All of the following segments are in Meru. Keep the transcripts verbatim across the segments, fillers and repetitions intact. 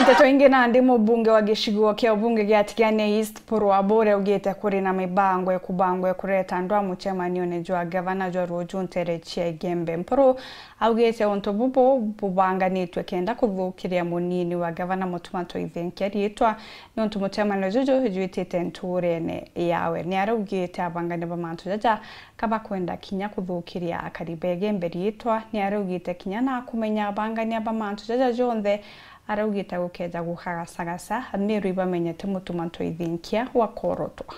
Nteto ingi nandi, mubunge wa gicigo kia ubunge gia Tigania East, Paul Wabure, augite kuri na mibango ikubangwa ya kureta andu a mucemanione jwa gavana jwa ruju ntere cia Igembe. Paul augite untu bubu bubanganitwe kenda kuthukiria munini wa gavana Mutuma Toithinkia riitwa, niuntu mucemanio juju jwitite ntuurene yawe. Ni araugite abangania ba mantu jaja kabakwenda kinya kuthukiria akari ba Igembe riitwa. Ni araugite kinya na kumenya abangania ba mantu jaja jonthe, araugite gukeja gukagasagasa, Amiru ibamenyete Mutuma Ntoithinkia wakorotwa.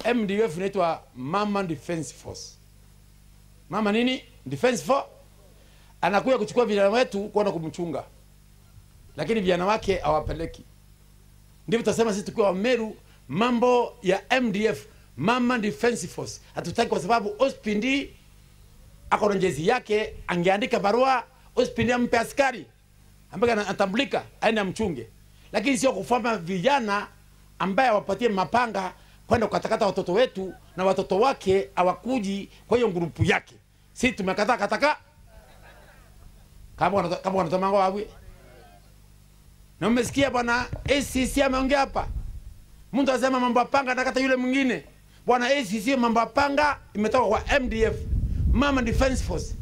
M D F inaitwa Mama Defense Force. Mama nini? Defense Force. Anakuja kuchukua vijana wetu kwenda kumchunga. Lakini vijana wake hawapeleki. Ndivyo tutasema sisi tukiwa Wameru, mambo ya M D F, Mama Defense Force. Hatutaki kwa sababu Ospindi ako na jeshi yake, angeandika barua, Ospindi ampe askari ambaye ana-, anatambulika, aende amchunge. Lakini sio kufanya vijana ambaye awapatie mapanga kwenda kukatakata watoto wetu na watoto wake hawakuji kwa hiyo grupu yake. Si tumekataa kataka? Kama wana-, kama wanatoa mango wawe. Na umesikia bwana A C C ameongea hapa? Mtu anasema mambo ya panga anakata yule mwingine. Bwana A C C, mambo ya panga imetoka kwa M D F, Mama Defense Force.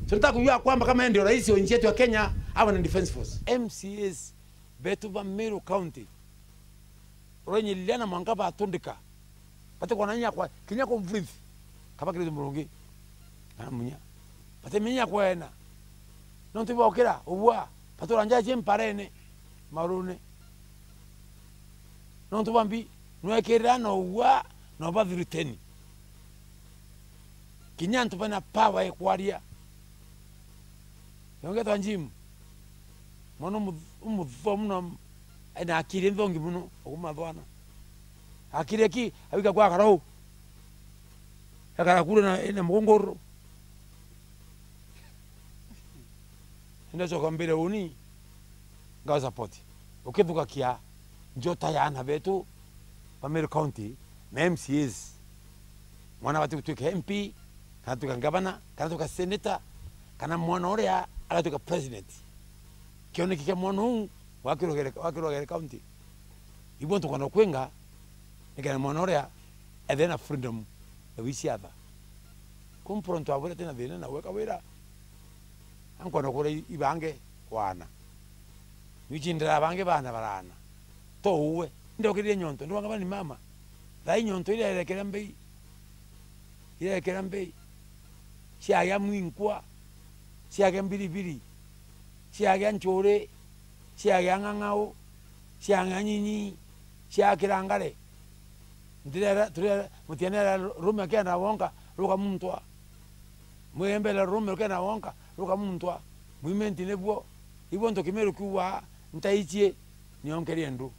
Tunataka kujua kwamba kama yeye ndio rais wa nchi yetu ya Kenya, awe na Defense Force. M C As betu ba Meru County, urenyiliana mwanka batundika. Bati kwana inya kwa, kinya ku breathe. Kaba kiri murungi. Kana munya. Bati minya kwena. Nontu bokira, ubua, batura njaji mparene, marune. Nontu bambi, nwekirira na ubua, na ubathiruteni. Kinya antu bena power ya kwaria. Yongetwa Jim. Mwana umu-, umuthwa muno, ena akiri nthongi muno, ukumathwana. Akiri aki, awika kwa karau. Akara kule na, ena mugongoro. Enda coka mbere uni, ngao support. Ukithugakia njota ya ana betu ba Meru County na M C As. Mwana wati gutwika M P, kana tuka ngavana, kana tuka senator, kana mwana uria agatuika president. Kioneki kia mwana uu wakirogere, wakirogere county. Ibo ntukwenda kwinga, nikana mwana uria ethe na freedom ya wiciatha. Kumpura ntu abwira tina thina na gweka wira. Ankwenda kura i-, ibange wana. Nwichindira bangi bana barana. To uwe. Ndokirire nyonto, ndwanga bani mama. Thai nyonto iria erekera mbei. Iria erekera mbei. Ciagia mwinkwa. Ciagia mbiribiri. Ciagia nchuri. Ciagia ng'ang'au. Ciagia nyinyi. Ciakira ngare. Ndirera, turera, mutianera rume akenda wonka, ruka muntwa. Mwembele rume rukena wonka, ruka muntwa. Mwimenti nibwo. Ibwo ntu Kimiru kiugaa, ntaichie, nionkerie ndu.